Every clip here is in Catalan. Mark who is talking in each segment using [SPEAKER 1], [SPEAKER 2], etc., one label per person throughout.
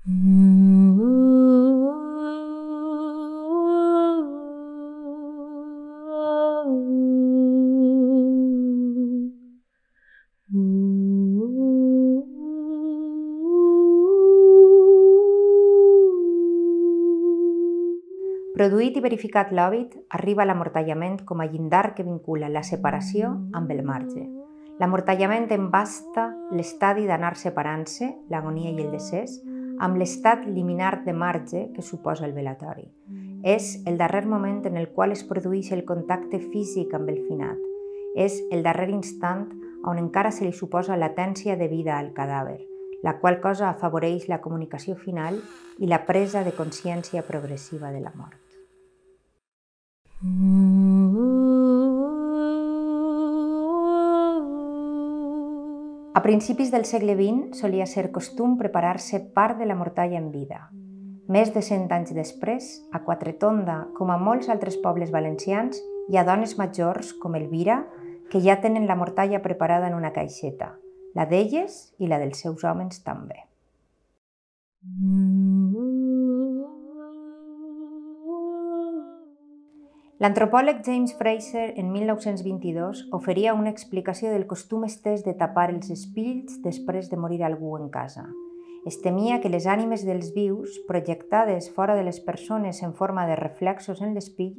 [SPEAKER 1] Produït i verificat l'òbit, arriba l'amortallament com a llindar que vincula la separació amb el marge. L'amortallament embasta l'estadi d'anar separant-se, l'agonia i el decés, amb l'estat liminar de marge que suposa el velatori. És el darrer moment en el qual es produeix el contacte físic amb el finat. És el darrer instant on encara se li suposa latència de vida al cadàver, la qual cosa afavoreix la comunicació final i la presa de consciència progressiva de la mort. A principis del segle XX solia ser costum preparar-se part de la mortalla en vida. Més de 100 anys després, a Quatretonda, com a molts altres pobles valencians, hi ha dones majors, com Elvira, que ja tenen la mortalla preparada en una caixeta, la d'elles i la dels seus homes també. L'antropòleg James Fraser, en 1922, oferia una explicació del costum estès de tapar els espills després de morir algú en casa. Es temia que les ànimes dels vius, projectades fora de les persones en forma de reflexos en l'espill,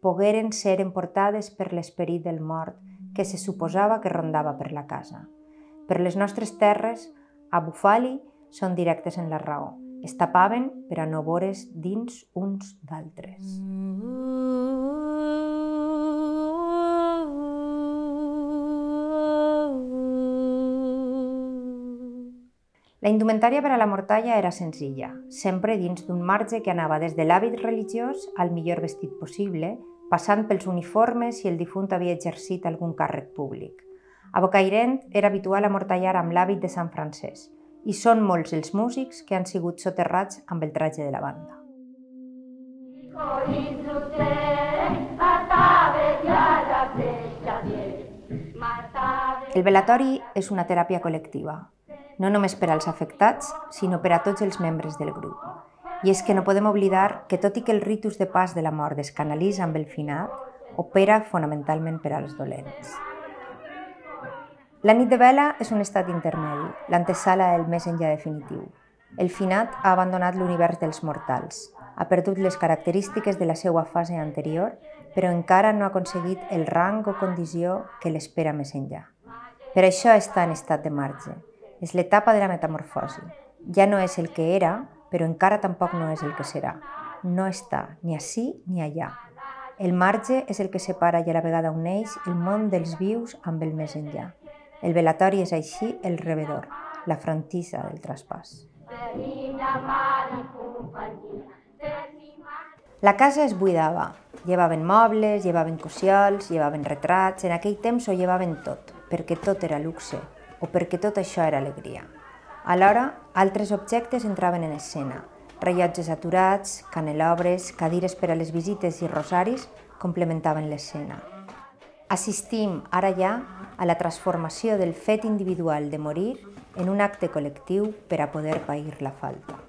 [SPEAKER 1] pogueren ser emportades per l'esperit del mort que se suposava que rondava per la casa. Per les nostres terres, a Bufali, són directes en la raó. Es tapaven per a no veure's dins uns d'altres. La indumentària per a la mortalla era senzilla, sempre dins d'un marge que anava des de l'hàbit religiós al millor vestit possible, passant pels uniformes si el difunt havia exercit algun càrrec públic. A Bocairent era habitual amortallar amb l'hàbit de Sant Francesc, i són molts els músics que han sigut soterrats amb el traje de la banda. El velatori és una teràpia col·lectiva, no només per als afectats, sinó per a tots els membres del grup. I és que no podem oblidar que, tot i que el ritus de pas de la mort es canalitza amb el finat, opera fonamentalment per als dolents. La nit de vela és un estat intermedi, l'antesala del més enllà definitiu. El finat ha abandonat l'univers dels mortals, ha perdut les característiques de la seva fase anterior, però encara no ha aconseguit el rang o condició que l'espera més enllà. Per això està en estat de marge. És l'etapa de la metamorfosi. Ja no és el que era, però encara tampoc no és el que serà. No està ni ací ni allà. El marge és el que separa i a la vegada uneix el món dels vius amb el més enllà. El velatori és així el rebedor, la frontissa del traspàs. La casa es buidava. Llevaven mobles, llevaven cossiols, llevaven retrats. En aquell temps ho llevaven tot, perquè tot era luxe, o perquè tot això era alegria. Alhora, altres objectes entraven en escena. Rellotges aturats, canelobres, cadires per a les visites i rosaris complementaven l'escena. Assistim, ara ja, a la transformació del fet individual de morir en un acte col·lectiu per a poder pair la falta.